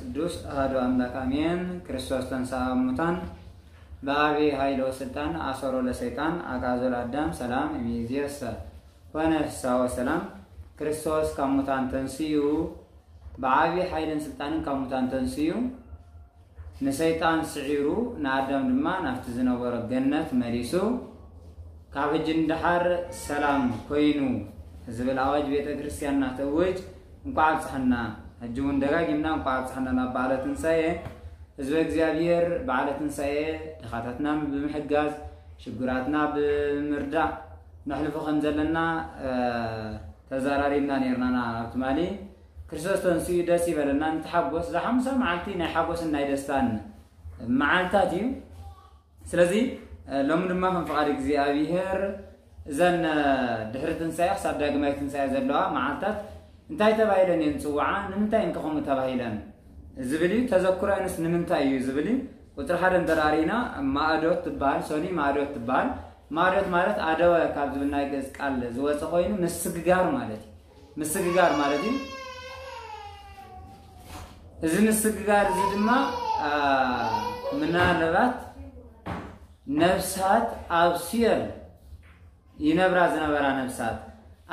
ቅዱስ ኣሐዱ ኣምላክ ኣሜን። ክርስቶስ ተንሥአ እሙታን በአቢ ኃይል ወስልጣን አሰሮ ለሰይጣን አግዓዞ ለአዳም ሰላም እምይእዜሰ ኮነ ፍስሐ ወሰላም። ክርስቶስ ካብ ሙታን ተንስኡ፣ ብዓቢ ኃይልን ስልጣንን ካብ ሙታን ተንስኡ፣ ንሰይጣን ስዒሩ፣ ንኣዳም ድማ ናብቲ ዝነበሮ ገነት መሊሱ፣ ካብ ሕጂ ንደሓር ሰላም ኮይኑ ዝብል ኣዋጅ ቤተ ክርስቲያንና ተእውጅ። እንኳዕ ኣብጽሐና። ሕጂ እውን ደጋጊምና እንኳዕ ኣብጽሐና ናብ በዓለ ትንሳኤ። ህዝበ እግዚኣብሔር በዓለ ትንሳኤ ድኻታትና ብምሕጋዝ፣ ሽጉራትና ብምርዳእ ነሕልፎ ከም ዘለና ተዛራሪብና ነርና። ናብ ትማሊ ክርስቶስ ተንስኡ ደስ ይበለና፣ ንተሓጎስ። እዛ ሓሙሳ መዓልቲ ናይ ሓጎስን ናይ ደስታን መዓልታት እዩ። ስለዚ ሎሚ ድማ ከም ፍቓድ እግዚኣብሔር እዘን ድሕሪ ትንሳኤ ክሳብ ዳግማይ ትንሳኤ ዘለዋ መዓልታት እንታይ ተባሂለን እየን ዝፅውዓ? ንምንታይ እንከ ከምኡ ተባሂለን ዝብል እዩ። ተዘክሮንስ ንምንታይ እዩ ዝብል እዩ። ቁፅሪ ሓደ እንተዳሪና ማእዶት ትበሃል፣ ሶኒ ማእዶት ትበሃል። ማእዶት ማለት ኣደወ ካብ ዝብል ናይ ግእዝ ቃል ዝወፀ ኮይኑ ምስግጋር ማለት እዩ። ምስግጋር ማለት እዩ። እዚ ምስግጋር እዚ ድማ ምናልባት ነፍሳት ኣብ ሲኦል ይነብራ ዝነበራ ነፍሳት፣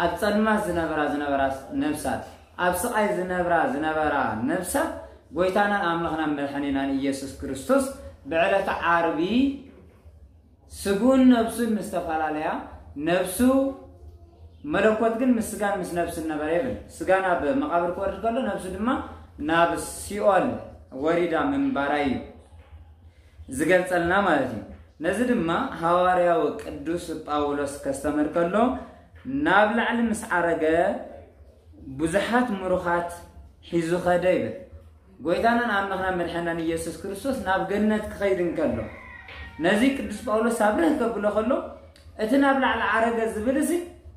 ኣብ ጸልማት ዝነብራ ዝነበራ ነፍሳት፣ ኣብ ስቓይ ዝነብራ ዝነበራ ነፍሳት ጎይታናን ኣምላኽናን መድሓኒናን ኢየሱስ ክርስቶስ ብዕለተ ዓርቢ ስግኡን ነብሱን ምስ ተፈላለያ፣ ነብሱ መለኮት ግን ምስ ስጋን ምስ ነብስን ነበረ ይብል። ስጋ ናብ መቓብር ክወርድ ከሎ ነብሱ ድማ ናብ ሲኦል ወሪዳ ምንባራ እዩ ዝገልጸልና ማለት እዩ። ነዚ ድማ ሃዋርያዊ ቅዱስ ጳውሎስ ከስተምህር ከሎ ናብ ላዕሊ ምስ ዓረገ ብዙሓት ምሩኻት ሒዙ ኸደ ይብል። ጎይታናን ኣምላኽናን መድሓናን ኢየሱስ ክርስቶስ ናብ ገነት ክኸይድ እንከሎ ነዚ ቅዱስ ጳውሎስ ኣብርህ ከብሎ ከሎ እቲ ናብ ላዕሊ ዓረገ ዝብል እዚ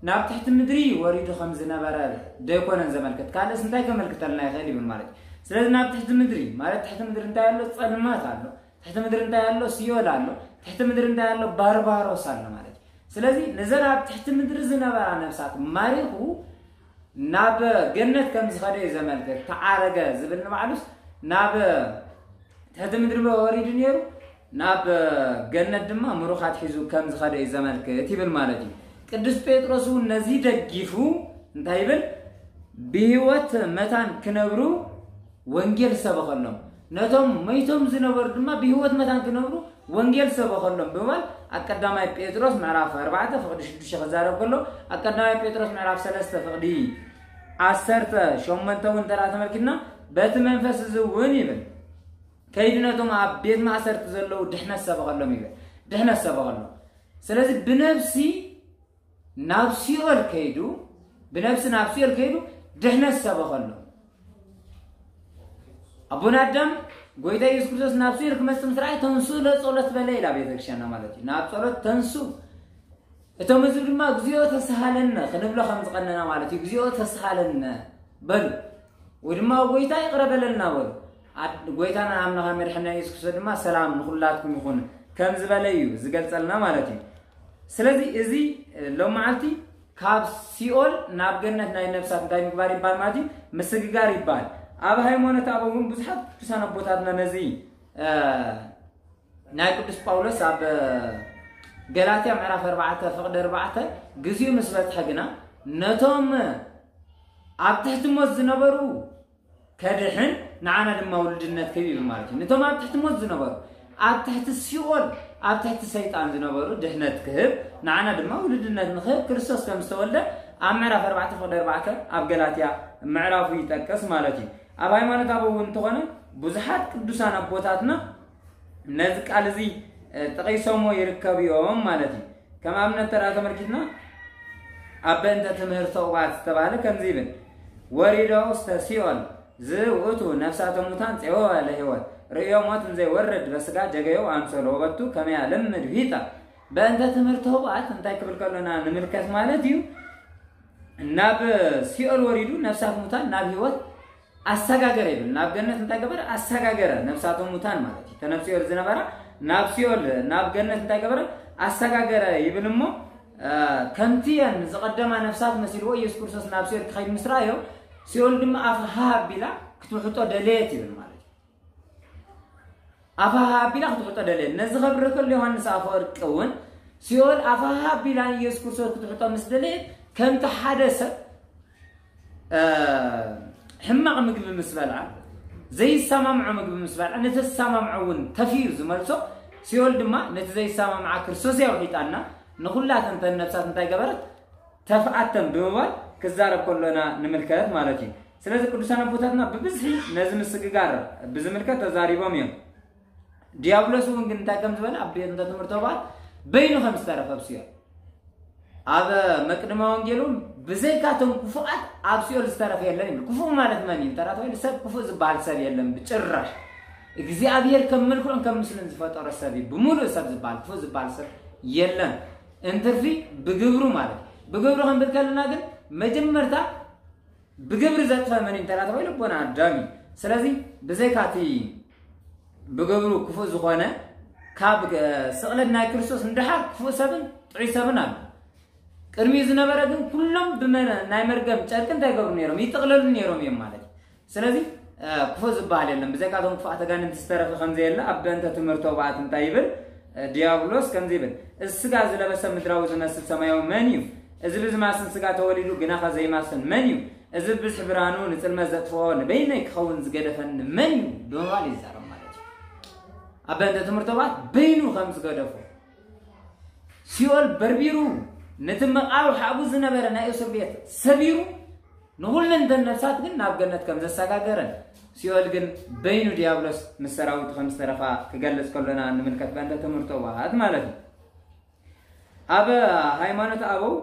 ናብ ትሕቲ ምድሪ ወሪዱ ከም ዝነበረ ደይኮነን ዘመልክት፣ ካልእስ እንታይ ከመልክተልና ይኽእል ይብል ማለት እዩ። ስለዚ ናብ ትሕቲ ምድሪ ማለት ትሕቲ ምድሪ እንታይ ኣሎ? ጸልማት ኣሎ። ትሕቲ ምድሪ እንታይ ኣሎ? ሲኦል ኣሎ። ትሕቲ ምድሪ እንታይ ኣሎ? ባርባሮስ ኣሎ ማለት እዩ። ስለዚ ነዘን ኣብ ትሕቲ ምድሪ ዝነበራ ነፍሳት ማሪኹ ናብ ገነት ከም ዝኸደ እዩ ዘመልክት። ተዓረገ ዝብል ንባዕሉስ ናብ ትሕቲ ምድሪ ወሪዱ ነይሩ፣ ናብ ገነት ድማ ምሩኻት ሒዙ ከም ዝኸደ እዩ ዘመልክት ይብል ማለት እዩ። ቅዱስ ጴጥሮስ እውን ነዚ ደጊፉ እንታይ ይብል? ብህይወት መታን ክነብሩ ወንጌል ሰበኸሎም። ነቶም መይቶም ዝነበሩ ድማ ብህይወት መታን ክነብሩ ወንጌል ሰበኸሎም ብምባል ኣብ ቀዳማይ ጴጥሮስ ምዕራፍ ኣርባዕተ ፍቕዲ ሽዱሽተ ክዛረብ ከሎ፣ ኣብ ቀዳማይ ጴጥሮስ ምዕራፍ ሰለስተ ፍቕዲ ዓሰርተ ሸሞንተ እውን እንተ ደኣ ተመልኪትና፣ በቲ መንፈስ እዚ እውን ይብል፣ ከይዱ ነቶም ኣብ ቤት ማእሰርቲ ዘለዉ ድሕነት ሰበኸሎም ይብል። ድሕነት ሰበኸሎም። ስለዚ ብነብሲ ናብ ሲኦል ከይዱ፣ ብነብሲ ናብ ሲኦል ከይዱ ድሕነት ሰበኸሎም። ኣቦና ኣዳም ጎይታ ኢየሱስ ክርስቶስ ናብ ሲኦል ክመጽእ ምስ ረኣየ፣ ተንሱ ለጸሎት በለ ኢላ ቤተክርስትያንና ማለት እዩ። ናብ ጸሎት ተንሱ። እቶም ህዝቢ ድማ "እግዚኦ ተስሃለነ" ክንብሎ ከም ዝቐነና ማለት እዩ። "እግዚኦ ተስሃለነ" በሉ። ወይ ድማ "ጎይታ ይቕረ በለልና" በሉ። ኣድ-፣ ጎይታና ኣምላኽና መድሓኒና ኢየሱስ ክርስቶስ ድማ "ሰላም ንኹላትኩም ይኹን" ከም ዝበለ እዩ ዝገልጸልና ማለት እዩ። ስለዚ እዚ ሎም መዓልቲ ካብ ሲኦል ናብ ገነት ናይ ነፍሳት እንታይ ምግባር ይባል ማለት እዩ? ምስግጋር ይባል። ኣብ ሃይማኖት ኣበው እውን ብዙሓት ቅዱሳን ኣቦታትና ነዚ፣ እ፣ ናይ ቅዱስ ጳውሎስ ኣብ ገላትያ ምዕራፍ ኣርባዕተ ፍቕዲ ኣርባዕተ፣ "ግዚኡ ምስ በጽሐ ግና ነቶም ኣብ ትሕቲ ሞት ዝነበሩ ከድሕን ንዓና ድማ ውሉድነት ክህብ" ይብል ማለት እዩ። ነቶም ኣብ ትሕቲ ሞት ዝነበሩ፣ ኣብ ትሕቲ ሲኦል፣ ኣብ ትሕቲ ሰይጣን ዝነበሩ ድሕነት ክህብ፣ ንዓና ድማ ውሉድነት ንክህብ ክርስቶስ ከም ዝተወልደ ኣብ ምዕራፍ ኣርባዕተ ፍቕዲ ኣርባዕተ ኣብ ገላትያ ምዕራፉ ይጠቅስ ማለት እዩ። ኣብ ሃይማኖት ኣበው እውን እንተኾነ ብዙሓት ቅዱሳን ኣቦታትና ነዚ ቃል እዚ፣ እ፣ ጠቒሶሞ ይርከቡ እዮም ማለት እዩ። ከም ኣብነት ተራ ተመልኪትና ኣብ በእንተ ትምህርተ ኡባት ዝተባህለ ከምዚ ይብል፣ "ወሪዶ ውስተ ሲኦል ዝውእቱ ነፍሳተ ሙታን ጼወወ ለህይወት ርእዮ ሞት እንዘይወርድ በስጋ ጀገዮ ኣምሰሎ ወበቱ ከመያ ልምድ ሂጠ." በእንተ ትምህርተ ኡባት እንታይ ክብል ከሎና ንምልከት ማለት እዩ? ናብ ሲኦል ወሪዱ ነፍሳት ሙታን ናብ ህይወት ኣሰጋገረ ይብል። ናብ ገነት እንታይ ገበረ? ኣሰጋገረ ነፍሳቶም ሙታን ማለት እዩ። ተነፍሲኦል ዝነበራ ናብ ሲኦል፣ ናብ ገነት እንታይ ገበረ? ኣሰጋገረ ይብል እሞ፣ እ፣ ከምቲ እየን ዝቐደማ ነፍሳት መሲልዎ ኢየሱስ ክርስቶስ ናብ ሲኦል ክኸይድ ምስ ረኣዮ፣ ሲኦል ድማ ኣፋ ሃብ ኣቢላ ክትውሕጦ ደለየት ይብል ማለት እዩ። ኣፋሃ ኣቢላ ክትውሕጦ ደለየት። ነዚ ከብርህ ከሎ ዮሃንስ ኣፈወርቂ እውን ሲኦል ኣፋሃ ኣቢላ ንኢየሱስ ክርስቶስ ክትውሕጦ ምስ ደለየት፣ ከምቲ ሓደ ሰብ፣ እ፣ ሕማቕ ምግቢ ምስ በልዓ፣ ዘይሰማምዖ ምግቢ ምስ በልዓ፣ ነቲ ዝሰማምዖ እውን ተፊኡ ዝመልሶ፣ ሲኦል ድማ ነቲ ዘይሰማምዓ ክርስቶስ እያ ውሒጣና፣ ንኹላተን እተን ነፍሳት እንታይ ገበረት? ተፍኣተን ብምባል ክዛረብ ከሎና ንምልከት ማለት እዩ። ስለዚ ቅዱሳን ኣቦታትና ብብዝሒ ነዚ ምስግጋር ብዝምልከት ተዛሪቦም እዮም። ዲያብሎስ እውን ግን እንታይ ከም ዝበለ ኣብ ቤት እንተ ትምህርቶ በዓል በይኑ ከም ዝተረፈ ኣብ ሲኦል። ኣብ መቅድመ ወንጌል እውን ብዘይካቶም ክፉኣት ኣብ ሲኦል ዝተረፈ የለን ይብል። ክፉእ ማለት መን እዩ? እንተ ተባሂሉ ሰብ ክፉእ ዝበሃል ሰብ የለን ብጭራሽ። እግዚኣብሔር ከም መልክዑን ከም ምስልን ዝፈጠሮ ሰብ እዩ። ብምሉእ ሰብ ዝበሃል ክፉእ ዝበሃል ሰብ የለን። እንትርፊ ብግብሩ ማለት እዩ። ብግብሩ ክንብል ከለና ግን መጀመርታ ብግብሪ ዘጥፈ መን እዩ እንተ ተባሂሉ ኣቦና ኣዳም እዩ። ስለዚ ብዘይካቲ ብግብሩ ክፉእ ዝኾነ ካብ እ፣ ስቕለት ናይ ክርስቶስ ንደሓር ክፉእ ሰብን ጥዑይ ሰብን ኣሎ። ቅድሚኡ ዝነበረ ግን ኩሎም ብመ-፣ ናይ መርገም ጨርቂ እንታይ ይገብሩ ነይሮም? ይጥቕለሉ ነይሮም እዮም ማለት እዩ። ስለዚ እ፣ ክፉእ ዝበሃል የለን። ብዘይካቶም ክፉኣት ኣጋንንቲ ዝተረፈ ከም ዘየለ ኣብ በእንተ ትምህርቶ በዓት እንታይ ይብል? እ፣ ዲያብሎስ ከምዚ ይብል፣ እዚ ስጋ ዝለበሰ ምድራዊ ዝመስል ሰማያዊ መን እዩ? እዚ ብዝማስን ስጋ ተወሊዱ ግናኸ ዘይማስን መን እዩ? እዚ ብብዝሒ ብርሃኑ ንጽልመት ዘጥፍኦ ንበይነይ ክኸውን ዝገደፈኒ መን እዩ? ብምባል ይዛረብ ማለት እዩ። ኣብ በእንተ ትምህርቶ በዓት በይኑ ከም ዝገደፎ ሲኦል በርቢሩ ነቲ መቓብር ሓቡ ዝነበረ ናይ እስር ቤት ሰቢሩ ንኹለን እተን ነፍሳት ግን ናብ ገነት ከም ዘሰጋገረን ሲኦል ግን በይኑ ዲያብሎስ ምስ ሰራዊቱ ከም ዝተረፋ ክገልጽ ከሎና ንምልከት በእንተ ትምህርቶ በዓት ማለት እዩ። ኣብ ሃይማኖት ኣበው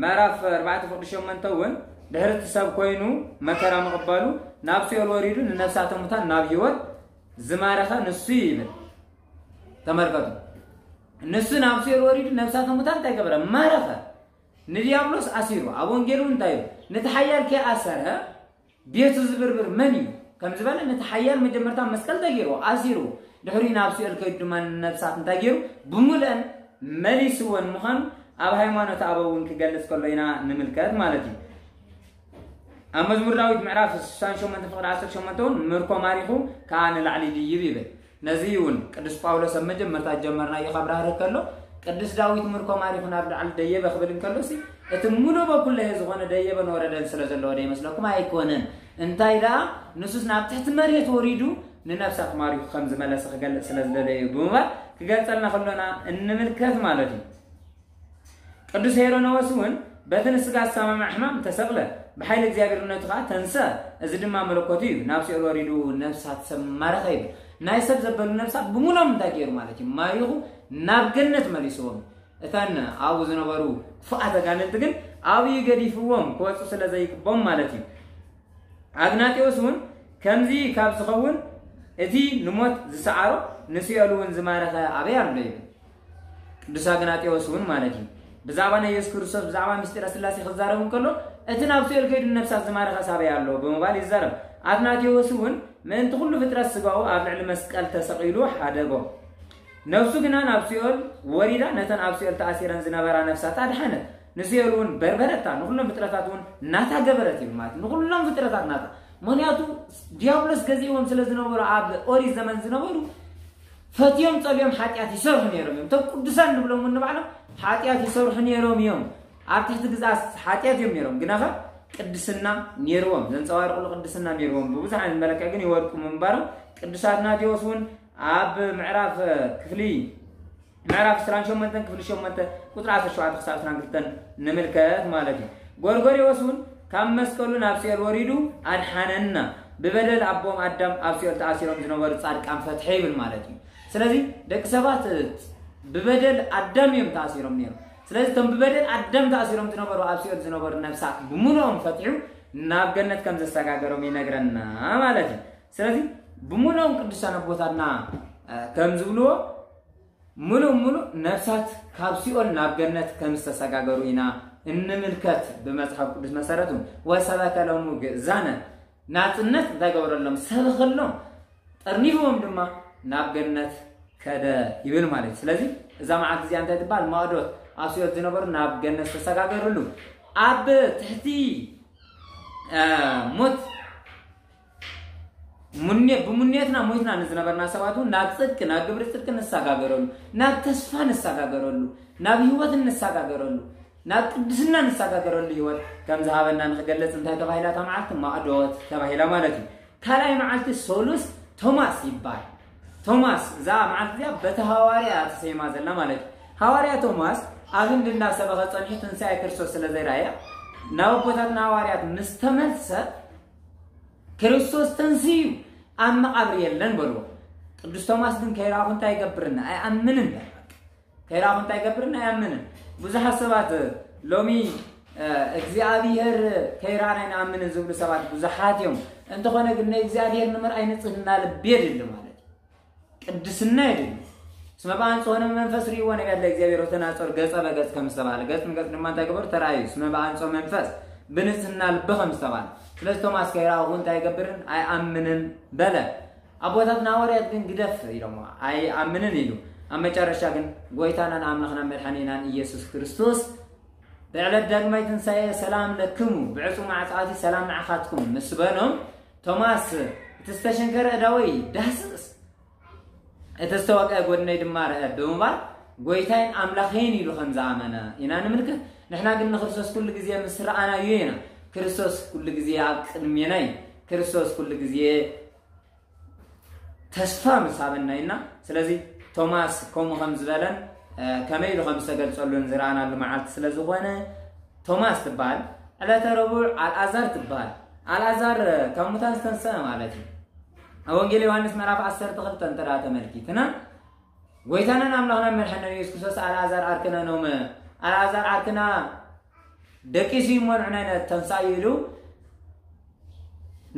ምዕራፍ ኣርባዕተ ፍቕዲ ሸሞንተ እውን ድሕሪ እቲ ሰብ ኮይኑ መከራ ምቕባሉ ናብ ሲኦል ወሪዱ ንነፍሳተ ሙታን ናብ ህይወት ዝማረኸ ንሱ እዩ ይብል። ተመልከቱ። ንሱ ናብ ሲኦል ወሪዱ ነፍሳተ ሙታን እንታይ ገበረ? ማረኸ። ንዲያብሎስ ኣሲሩ። ኣብ ወንጌሉ እንታይ እዩ? ነቲ ሓያል ከይኣሰረ ቤቱ ዝብርብር መን እዩ? ከም ዝበለ ነቲ ሓያል መጀመርታ መስቀል ተገይርዎ፣ ኣሲሩ። ድሕሪኡ ናብ ሲኦል ከይዱ ድማ ንነፍሳት እንታይ ገይሩ? ብምሉአን መሊስወን ምዃኑ ኣብ ሃይማኖት ኣበው እውን ክገልጽ ከሎ ኢና ንምልከት ማለት እዩ። ኣብ መዝሙር ዳዊት ምዕራፍ ስሳን ሸሞንተ ፍቕዲ ዓሰርተ ሸሞንተ እውን ምርኮ ማሪኹ ከዓ ንላዕሊ ድይብ ይብል። ነዚ እውን ቅዱስ ጳውሎስ ኣብ መጀመርታ ጀመርናዮ ካብ ራህርህ ከሎ ቅዱስ ዳዊት ምርኮ ማሪኹ ናብ ላዕሊ ደየበ ክብል እንከሎ ሲ እቲ ሙሉ በኩለሄ ዝኾነ ደየበን ወረደን ስለ ዘለዎ ዶ ይመስለኩም? ኣይኮነን። እንታይ ደኣ ንሱስ ናብ ትሕቲ መሬት ወሪዱ ንነፍሳት ማሪኹ ከም ዝመለሰ ክገልጽ ስለ ዝደለየ እዩ ብምባል ክገልጸልና ከሎና እንምልከት ማለት እዩ። ቅዱስ ሄሮኖዎስ እውን በቲ ንስጋ ዝሰማማዕ ሕማም ተሰቕለ፣ ብሓይሊ እግዚኣብሔርነቱ ከዓ ተንስአ፣ እዚ ድማ መለኮቱ እዩ፣ ናብ ሲኦል ወሪዱ ነፍሳት ሰብ ማረኸ ይብል። ናይ ሰብ ዘበሉ ነፍሳት ብምሎም እንታይ ገይሩ ማለት እዩ? ማሪኹ ናብ ገነት መሊስዎም። እተን ኣብኡ ዝነበሩ ክፉኣት ኣጋንንቲ ግን ኣብኡ ገዲፍዎም ክወፁ ስለ ዘይግቦም ማለት እዩ። ኣግናጢዎስ እውን ከምዚ ካብ ዝኸውን እቲ ንሞት ዝሰዓሮ ንሲኦል እውን ዝማረኸ ኣበይ ኣሎ ይብል። ቅዱስ ኣግናጢዎስ እውን ማለት እዩ ብዛዕባ ናይ የሱስ ክርስቶስ ብዛዕባ ምስጢረ ስላሴ ክዛረብ እንከሎ እቲ ናብ ሲኦል ከይዱ ነፍሳት ዝማረኸ ኣበይ ኣሎ ብምባል ይዛረብ። ኣግናጢዎስ እውን ምእንቲ ኩሉ ፍጥረት ስጋኡ ኣብ ልዕሊ መስቀል ተሰቒሉ ሓደጎ። ነፍሱ ግና ናብ ሲኦል ወሪዳ ነተን ኣብ ሲኦል ተኣሲረን ዝነበራ ነፍሳት ኣድሓነት። ንሲኦል እውን በርበረታ፣ ንኹሎም ፍጥረታት እውን ናታ ገበረት ይብል ማለት ንኹሎም ፍጥረታት ናታ። ምክንያቱ ዲያብሎስ ገዚእዎም ስለ ዝነበሩ ኣብ ኦሪት ዘመን ዝነበሩ ፈትዮም ጸልዮም ሓጢኣት ይሰርሑ ነይሮም እዮም። እቶም ቅዱሳን ንብሎም እውን ንባዕሎም ሓጢኣት ይሰርሑ ነይሮም እዮም። ኣብ ትሕቲ ግዛት ሓጢኣት እዮም ነይሮም። ግናኸ ቅድስና ነይርዎም፣ ዘንጸባርቕሉ ቅድስና ነይርዎም። ብብዙሕ ዓይነት መለክዕ ግን ይወድቁ ምንባሮም ቅዱስ ኣትናቴዎስ እውን ኣብ ምዕራፍ ክፍሊ ምዕራፍ ዕስራን ሸሞንተን ክፍሊ ሸሞንተ ቁጽሪ ዓሰርተ ሸውዓተ ክሳብ ዕስራን ክልተን ንምልከት ማለት እዩ። ጎርጎርዮስ እውን ካብ መስቀሉ ናብ ሲኦል ወሪዱ ኣድሓነና። ብበደል ኣቦም ኣዳም ኣብ ሲኦል ተኣሲሮም ዝነበሩ ጻድቃን ፈትሐ ይብል ማለት እዩ። ስለዚ ደቂ ሰባት ብበደል ኣዳም እዮም ተኣሲሮም ነይሮም። ስለዚ እቶም ብበደል ኣዳም ተኣሲሮም ዝነበሩ ኣብ ሲኦል ዝነበሩ ነፍሳት ብምሉኦም ፈትሑ ናብ ገነት ከም ዘሰጋገሮም ይነግረና ማለት እዩ። ስለዚ ብምሉኦም ቅዱሳን ኣቦታትና ከም ዝብልዎ ምሉእ ምሉእ ነፍሳት ካብ ሲኦል ናብ ገነት ከም ዝተሰጋገሩ ኢና እንምልከት ብመጽሓፍ ቅዱስ መሰረት እውን። "ወሰበከ ሎሙ ግእዛነ" ናጽነት እንታይ ገበረሎም? ሰበኸሎም። ጠርኒፍዎም ድማ ናብ ገነት ከደ ይብል ማለት እዩ። ስለዚ እዛ መዓልቲ እዚኣ እንታይ ትበሃል? ማዕዶት ኣብ ሲኦል ዝነበሩ ናብ ገነት ዝተሰጋገርሉ ኣብ ትሕቲ እ፣ ሞት ሙኔ-፣ ብሙኔትና ሞይትና ንዝነበርና ሰባት እውን ናብ ጽድቂ፣ ናብ ግብሪ ጽድቂ ንሰጋገረሉ፣ ናብ ተስፋ ንሰጋገረሉ፣ ናብ ህይወት ንሰጋገረሉ፣ ናብ ቅድስና ንሰጋገረሉ ህይወት ከም ዝሃበና ንክገልጽ እንታይ ተባሂላ እታ መዓልቲ? ማዕዶት ተባሂላ ማለት እዩ። ካልኣይ መዓልቲ ሶሉስ ቶማስ ይባል። ቶማስ፣ እዛ መዓልቲ እዚኣ በቲ ሃዋርያ ተሰይማ ዘላ ማለት እዩ። ሃዋርያ ቶማስ ኣብ ህንዲ እንዳሰበኸ ጸኒሑ ትንሳኤ ክርስቶስ ስለ ዘይረኣየ ናብ ኣቦታትና ሃዋርያት ምስ ተመልሰ ክርስቶስ ተንስዩ ኣብ መቓብር የለን በልዎ። ቅዱስ ቶማስ ግን ከይረኣኹ እንታይ ይገብርና? ኣይኣምንን በል። ከይረኣኹ እንታይ ይገብርና? ኣይኣምንን። ብዙሓት ሰባት ሎሚ እግዚኣብሔር ከይረኣና ኣይንኣምንን ዝብሉ ሰባት ብዙሓት እዮም። እንተኾነ ግን ናይ እግዚኣብሔር ንምርኣይ ንጽህና ልቢ የድሊ ማለት እዩ። ቅድስና የድሊ። እስመ ብኣንጽሆ መንፈስ ርእይዎ ነቢያት ለእግዚኣብሔር ወተናጸሩ ገጸ በገጽ ከም ዝተባህለ፣ ገጽ ንገጽ ድማ እንታይ ገበሩ? ተራእዩ። እስመ ብኣንጽሆ መንፈስ ብንጽህና ልቢ ከም ዝተባህለ። ስለዚ ቶማስ ከይረኣኹ እንታይ ይገብርን? ኣይኣምንን በለ። ኣቦታትና ሃዋርያት ግን ግደፍ ኢሎሞ፣ ኣይኣምንን ኢሉ። ኣብ መጨረሻ ግን ጎይታናን ኣምላኽናን መድሓኒናን ኢየሱስ ክርስቶስ ብዕለት ዳግማይ ትንሳኤ ሰላም ለክሙ፣ ብዕጹ ማዕጻቲ ሰላም ንዓኻትኩም ምስ በሎም፣ ቶማስ እቲ ዝተሸንከረ እዳወይ ዳስስ፣ እቲ ዝተወቅዐ ጎድነይ ድማ ርአ ብምባል ጎይታይን ኣምላኸይን ኢሉ ከም ዝኣመነ ኢና ንምልከት። ንሕና ግን ንክርስቶስ ኩሉ ግዜ ምስ ረኣናዮ ኢና። ክርስቶስ ኩሉ ግዜ ኣብ ቅድሜና እዩ። ክርስቶስ ኩሉ ግዜ ተስፋ ምስ ሃበና ኢና። ስለዚ ቶማስ ከምኡ ከም ዝበለን ከመይ ኢሉ ከም ዝተገልጸሉን ዝረኣናሉ መዓልቲ ስለ ዝኾነ ቶማስ ትበሃል። ዕለተ ረቡዕ ኣልኣዛር ትበሃል። ኣልኣዛር ካብ ሙታን ዝተንሰአ ማለት እዩ። ኣብ ወንጌል ዮሃንስ ምዕራፍ ዓሰርተ ክልተ እንተ ደኣ ተመልኪትና ጎይታናን ኣምላኽና መድሓኒና ኢየሱስ ክርስቶስ ኣልኣዛር ዓርክና ኖመ ኣልኣዛር ዓርክና ደቂሱ እዩ እሞ ንዕና ተንሳእ ኢሉ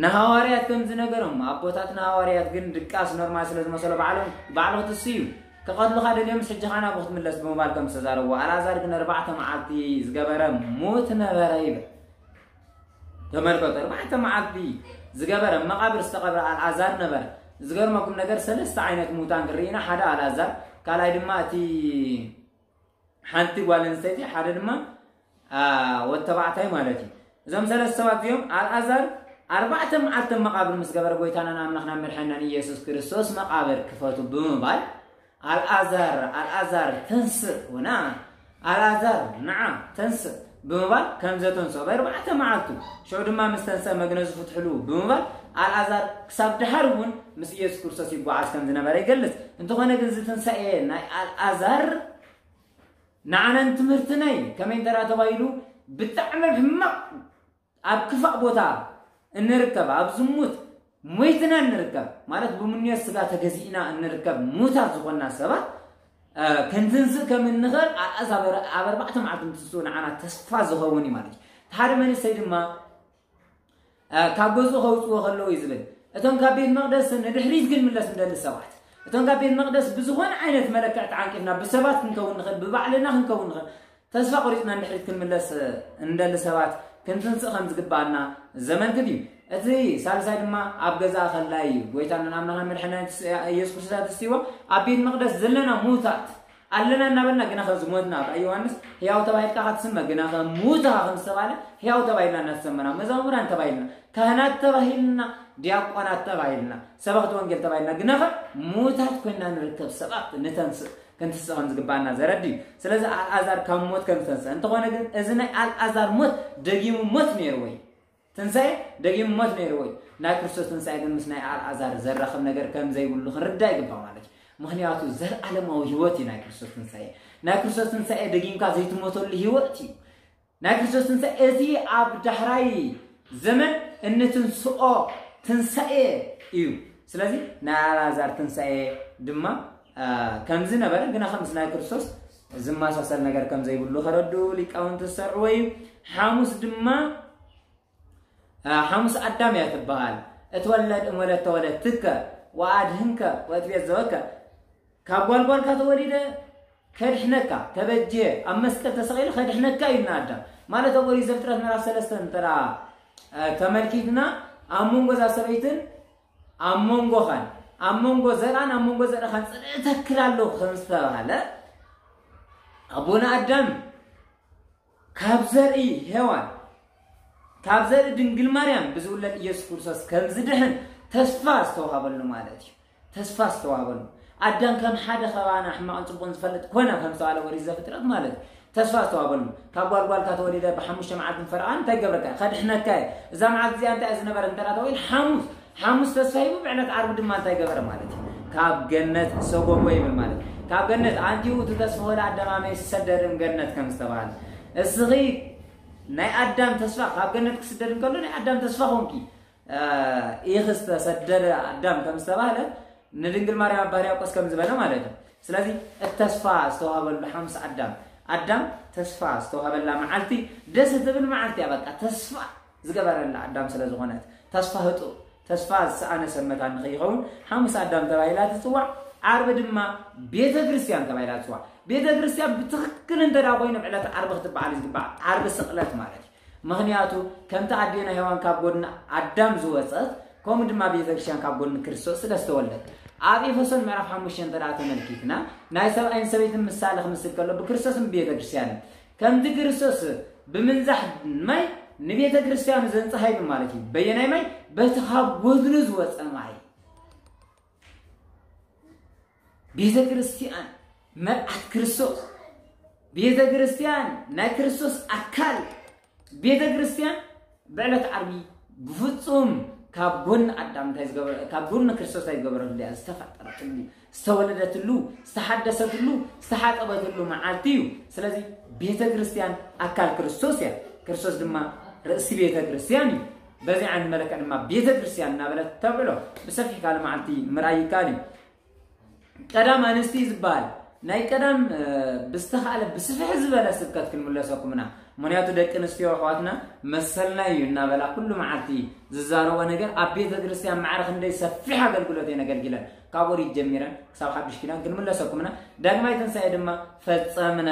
ንሃዋርያት ከም ዝነገሮም ኣቦታትና ሃዋርያት ግን ድቃስ ኖርማል ስለ ዝመሰሎ ባዕሎም ባዕሉ ክትስእ እዩ ከቐትሉኻ ደልዮምስ ሕጂ ኻና ብክትምለስ ብምባል ከም ዝተዛረብዎ ኣልኣዛር ግን ኣርባዕተ መዓልቲ ዝገበረ ሙት ነበረ ይብል። ተመልከቱ፣ ኣርባዕተ መዓልቲ ዝገበረ መቓብር ዝተቐብረ ኣልኣዛር ነበረ። ዝገርመኩም ነገር ሰለስተ ዓይነት ሙታን ክርኢና ሓደ ኣልኣዛር ካልኣይ ድማ እቲ ሓንቲ ጓል ኣንስተይቲ ሓደ ድማ ወድ ተባዕታይ ማለት እዩ። እዞም ሰለስተ ሰባት እዚኦም ኣልኣዛር ኣርባዕተ መዓልቲ መቓብር ምስ ገበረ ጎይታናን ኣምላኽናን መድሓኒናን ኢየሱስ ክርስቶስ መቓብር ክፈቱ ብምባል ኣልኣዛር ኣልኣዛር ተንስእ ወና ኣልኣዛር ንዓ ተንስእ ብምባል ከም ዘተንስኦ ብኣርባዕተ መዓልቱ ሽዑ ድማ ምስ ተንስአ መግነዙ ፍትሕሉ ብምባል ኣልኣዛር ክሳብ ድሓር እውን ምስ ኢየሱስ ክርስቶስ ይጓዓዝ ከም ዝነበረ ይገልጽ። እንተኾነ ግን እዚ ትንሳኤ ናይ ኣልኣዛር ንዓናን ትምህርትናይ ከመይ እንተራ ተባሂሉ ብጣዕሚ ሕማቕ ኣብ ክፋእ ቦታ እንርከብ ኣብ ዝሙት ሞይትና እንርከብ ማለት ብምንዮት ስጋ ተገዚእና እንርከብ ሙታት ዝኾንና ሰባት ክንትንስእ ከም እንኽእል ኣልኣዛር ኣብ ኣርባዕተ መዓልቲ እንትንስኡ ንዓና ተስፋ ዝኸውን እዩ ማለት እዩ። ሓደ መንእሰይ ድማ ካብ ገዝኡ ከውፅዎ ከለዉ እዩ ዝብል። እቶም ካብ ቤት መቅደስ ንድሕሪት ክንምለስ እንደሊ ሰባት እቶም ካብ ቤት መቅደስ ብዝኾነ ዓይነት መለክዕ ተዓንቂፍና ብሰባት ክንከውን ንኽእል ብባዕልና ክንከውን ንኽእል ተስፋ ቆሪፅና ንድሕሪት ክንምለስ እንደሊ ሰባት ክንትንስእ ከም ዝግባኣና ዘመልክት እዩ። እቲ ሳልሳይ ድማ ኣብ ገዛ ከላ እዩ ጎይታና ኣምላኽና መድሓኒና ኢየሱስ ክርስቶስ ተስቲዎ ኣብ ቤት መቅደስ ዘለና ሙታት ኣለና እናበልና ግናኸ ዝሞትና ኣብ ዮሃንስ ህያው ተባሂልካ ክትስመ ግናኸ ሙት ኢኻ ከም ዝተባለ ህያው ተባሂልና እናተሰመና መዛሙራን ተባሂልና ካህናት ተባሂልና ዲያቆናት ተባሂልና ሰበኽቲ ወንጌል ተባሂልና ግናኸ ሙታት ኮይና ንርከብ ሰባት ንተንስእ ክንትስእ ከም ዝግባና ዘረድ እዩ። ስለዚ ኣልኣዛር ካብ ሞት ከም ዝተንስአ እንተኾነ ግን እዚ ናይ ኣልኣዛር ሞት ደጊሙ ሞት ነይርዎ እዩ። ትንሳኤ ደጊሙ ሞት ነይርዎ እዩ። ናይ ክርስቶስ ትንሳኤ ግን ምስ ናይ ኣልኣዛር ዘራኽብ ነገር ከም ዘይብሉ ክንርዳእ ይግባእ ማለት እዩ። ምኽንያቱ ዘለኣለማዊ ህይወት እዩ ናይ ክርስቶስ ትንሳኤ። ናይ ክርስቶስ ትንሳኤ ደጊምካ ዘይትሞተሉ ህይወት እዩ። ናይ ክርስቶስ ትንሳኤ እዚ ኣብ ዳሕራይ ዘመን እንትንስኦ ትንሳኤ እዩ። ስለዚ ናይ ኣልኣዛር ትንሳኤ ድማ ከምዚ ነበረ፣ ግና ከምስ ናይ ክርስቶስ ዝመሳሰል ነገር ከም ዘይብሉ ከረድኡ ሊቃውንቲ ዝሰርዕዎ እዩ። ሓሙስ ድማ ሓሙስ ኣዳም እያ ትበሃል። እትወለድ እምወለድ ተወለድትከ ወኣድህንከ ወእትቤት ዘወከ ካብ ጓልጓልካ ተወሊደ ከድሕነካ ተበጀ ኣብ መስቀል ተሰቒሉ ከድሕነካ እዩ ኣዳም ማለት ኣብ ኦሪት ዘፍጥረት ምዕራፍ ሰለስተ እንተ ተመልኪትና ኣብ መንጎ እዛ ሰበይትን ኣብ መንጎኻን ኣብ መንጎ ዘርኣን ኣብ መንጎ ዘርእኻን ጽልኢ ተክል ኣሎ ከም ዝተባህለ ኣቦና ኣዳም ካብ ዘርኢ ሄዋን ካብ ዘርኢ ድንግል ማርያም ብዝውለድ ኢየሱስ ክርስቶስ ከም ዝድሕን ተስፋ ዝተዋሃበሉ ማለት እዩ። ተስፋ ዝተዋሃበሉ ኣዳም ከም ሓደ ከባና ሕማቕን ጽቡቕን ዝፈልጥ ኮነ ከም ዝተባለ ወሪት ዘፍጥረት ማለት እዩ። ተስፋ ዝተዋሃበሉ ካብ ጓልጓልካ ተወሊደ ብሓሙሽተ መዓልትን ፈረቓን እንታይ ገብረካ ከድሕነካ እየ። እዛ መዓልቲ እዚኣ እንታይ ዝነበረ እንተ ተባሂል ሓሙስ ሓሙስ ተስፋ ሂቡ ብዕለት ዓርቢ ድማ እንታይ ገበረ ማለት እዩ። ካብ ገነት ሰጎጎ ይብል ማለት ካብ ገነት ኣንቲኡ እቲ ተስፋ ወላ ኣዳም ኣመይ ዝሰደድን ገነት ከም ዝተባሃለ እስኺ ናይ ኣዳም ተስፋ ካብ ገነት ክስደድ እንከሎ ናይ ኣዳም ተስፋ ኾንኪ ኢኽ ዝተሰደደ ኣዳም ከም ዝተባህለ ንድንግል ማርያም ኣባ ሕርያቆስ ከም ዝበለ ማለት እዩ። ስለዚ እቲ ተስፋ ዝተዋሃበሉ ሓሙስ ኣዳም ኣዳም ተስፋ ዝተዋሃበላ መዓልቲ ደስ ትብል መዓልቲ እያ። በቃ ተስፋ ዝገበረላ ኣዳም ስለ ዝኾነት ተስፋ ህጡ ተስፋ ዝሰኣነ ሰብ መታን ንኸይኸውን ሓሙስ ኣዳም ተባሂላ ትፅዋዕ። ዓርቢ ድማ ቤተ ክርስቲያን ተባሂላ ትፅዋዕ። ቤተ ክርስቲያን ብትኽክል እንተ ኮይኑ ዕለት ዓርቢ ክትበዓል ዝግባዕ ዓርቢ ስቕለት ማለት እዩ። ምኽንያቱ ከምቲ ኣዴና ሔዋን ካብ ጎድኒ ኣዳም ዝወፀት ከምኡ ድማ ቤተ ክርስቲያን ካብ ጎድኒ ክርስቶስ ስለ ዝተወልደት ኣብ ኤፌሶን ምዕራፍ ሓሙሽተ እንተ ተመልኪትና ናይ ሰብኣይን ሰበይትን ምሳሌ ክምስል ከሎ ብክርስቶስን ቤተ ክርስቲያንን ከምቲ ክርስቶስ ብምንዛሕ ማይ ንቤተ ክርስቲያኑ ዘንፀሃ ይብል ማለት እዩ። በየናይ ማይ? በቲ ካብ ጎድኑ ዝወፀ ማይ። ቤተ ክርስቲያን መርዓት ክርስቶስ፣ ቤተ ክርስቲያን ናይ ክርስቶስ ኣካል፣ ቤተ ክርስቲያን ብዕለት ዓርቢ ብፍጹም ካብ ጎን ኣዳም እንታይ ዝገበረ ካብ ጎን ክርስቶስ እንታይ ዝገበረሉ እያ ዝተፈጠረትሉ ዝተወለደትሉ ዝተሓደሰትሉ ዝተሓጠበትሉ መዓልቲ እዩ። ስለዚ ቤተ ክርስቲያን ኣካል ክርስቶስ እያ። ክርስቶስ ድማ ርእሲ ቤተ ክርስቲያን እዩ። በዚ ዓይነት መለክዕ ድማ ቤተ ክርስቲያን እናበለት ተብዕሎ ብሰፊሕ ካልእ መዓልቲ ምርኣይ ይከኣል እዩ። ቀዳም ኣንስቲ ዝበሃል ናይ ቀዳም ብዝተኻእለ ብስፍሕ ዝበለ ስብከት ክንምለሰኩምና። ምክንያቱ ደቂ ኣንስትዮ ኣሕዋትና መሰልና እዩ እናበላ ኩሉ መዓልቲ ዝዛረቦ ነገር ኣብ ቤተ ክርስቲያን ማዕረ ክንደይ ሰፊሕ ኣገልግሎት እየን ኣገልጊለን ካብ ኦሪት ጀሚረን ክሳብ ሓዱሽ ኪዳን ክንምለሰኩምና። ዳግማይ ትንሳኤ ድማ ፈጸምነ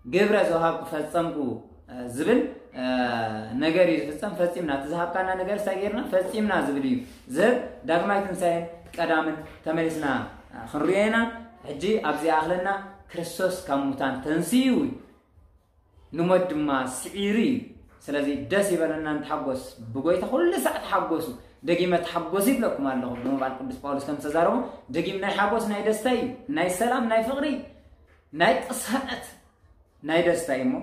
ግብረ ዝወሃብኩ ፈጸምኩ ዝብል ነገር እዩ ዝፍጸም። ፈጺምና እቲ ዝሃብካና ነገር እንታይ ጌርና ፈጺምና ዝብል እዩ ዝህብ። ዳግማይ ትንሳኤን ቀዳምን ተመሊስና ክንሪኦ ኢና። ሕጂ ኣብዚ ኣኽለና ክርስቶስ ካብ ሙታን ተንስኡ እዩ ንሞት ድማ ስዒሩ እዩ። ስለዚ ደስ ይበለና ንተሓጎስ ብጎይታ ኩሉ ሳዕ ተሓጎሱ። ደጊመ ተሓጎሱ ይብለኩም ኣለኹ ብምባል ቅዱስ ጳውሎስ ከም ዝተዛረቦ ደጊም ናይ ሓጎስ ናይ ደስታ እዩ ናይ ሰላም ናይ ፍቕሪ ናይ ቅሳነት ናይ ደስታ እዩ እሞ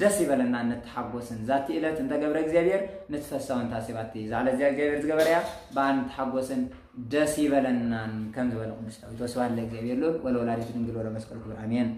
ደስ ይበለና ንተሓጎስን ዛቲ እለት እንተ ገብረ እግዚኣብሔር ንትፈሳውን ታሲባቲ ዛዕለ እዚኣ እግዚኣብሔር ዝገበረ እያ ብኣ ንተሓጎስን ደስ ይበለናን ከም ዝበለ ቅዱስ ዳዊት ወስብሐት ለእግዚኣብሔር ልዑል ወለወላዲቱ ድንግል ወለመስቀሉ ክቡር ኣሜን።